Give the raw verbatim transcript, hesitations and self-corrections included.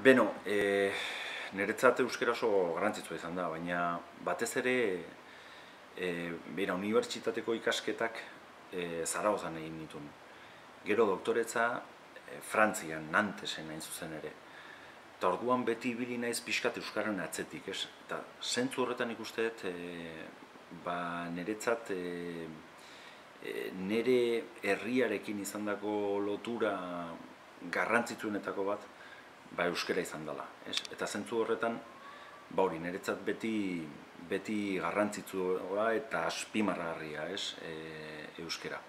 Beno, e, niretzat euskera oso garrantzitsua izan da, baina batez ere e, bera, unibertsitateko ikasketak e, Zaragozan egin nituen. Gero doktoretza e, Frantzian, Nantesen hain zuzen ere. Eta orduan beti ibili naiz pixkat euskaren atzetik, ez? Eta zentzu horretan ikuste dut, e, ba, niretzat e, e, nire herriarekin izandako lotura garrantzitsuenetako bat, ba euskera izan dela, ez? Eta zentzu horretan, ba hori, niretzat beti beti garrantzitsua eta azpimarragarria, ez? E, euskera.